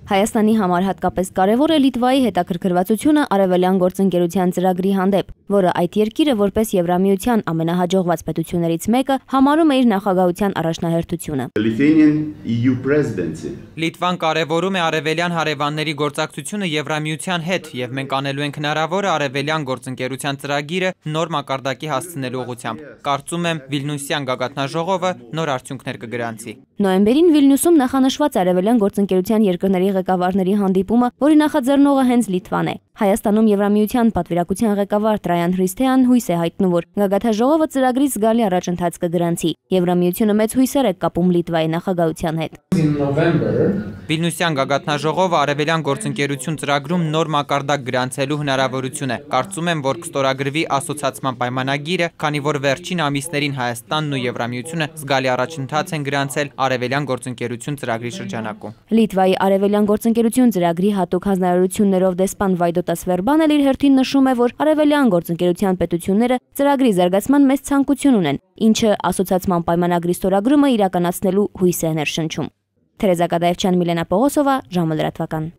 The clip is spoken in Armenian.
Հայաստանի համար հատկապես կարևոր է Լիտվայի հետաքրքրվածությունը արևելյան գործընկերության ծրագրի հանդեպ, որը այդ երկիրը որպես Եվրամիության ամենահաջողված պետություններից մեկը համարում է իր նախագահության առաջնահերթությունը։ Լիտվան կարևորում է արևելյան հարևանների գործակցությունը Եվրամիության հետ, եւ մենք անելու ենք հնարավորը արևելյան գործընկերության ծրագիրը նոր մակարդակի հասցնելու ուղղությամբ։ Կարծում եմ Վիլնյուսյան գագաթնաժողովը նոր արդյունքներ կգրանցի։ Նոյեմբերին Վիլնյուսում նախանշված արևելյան գործընկերության երկրների ղեկավարների հանդիպումը, որի նախաձեռնողը հենց Լիտվան է։ Հայաստանում Եվրամիության պատվիրակության ղեկավար Տրայան Հրիսթեան հույս է հայտնում, որ գագաթնաժողովը ծրագրի զգալի առաջընթաց կգրանցի։ Եվրամիությունը մեծ հույսեր է կապում Լիտվայի նախագահության հետ։ Վիլնյուսյան գագաթնաժողովը արևելյան գործընկերություն ծրագրում նոր մակարդակ գրանցելու հնարավորություն է։ Կարծում եմ, որ կստորագրվի ասոցիացման պայմանագիրը, քանի որ վերջին ամիսներին Հայաստանն ու Եվրամիությունը զգալի առաջընթաց են գրանցել արևելյան գործընկերություն ծրագրի շրջանակում։ Լիտվայի արևելյան գործընկերություն ծրագրի հատուկ հանձնարարություններով դեսպան Վայդոտաս Վերբան էլ իր հերթին նշում է, որ արևելյան գործընկերության պետությունները ծրագրի զարգացման մեծ ցանկություն ունեն, ինչը ասոցիացման պայմանագրի ստորագրումը իրականացնելու հույս է ներշնչում։ Թերեզա Կադաևչյան, Միլենա Պողոսովա, ժամը լրատվական։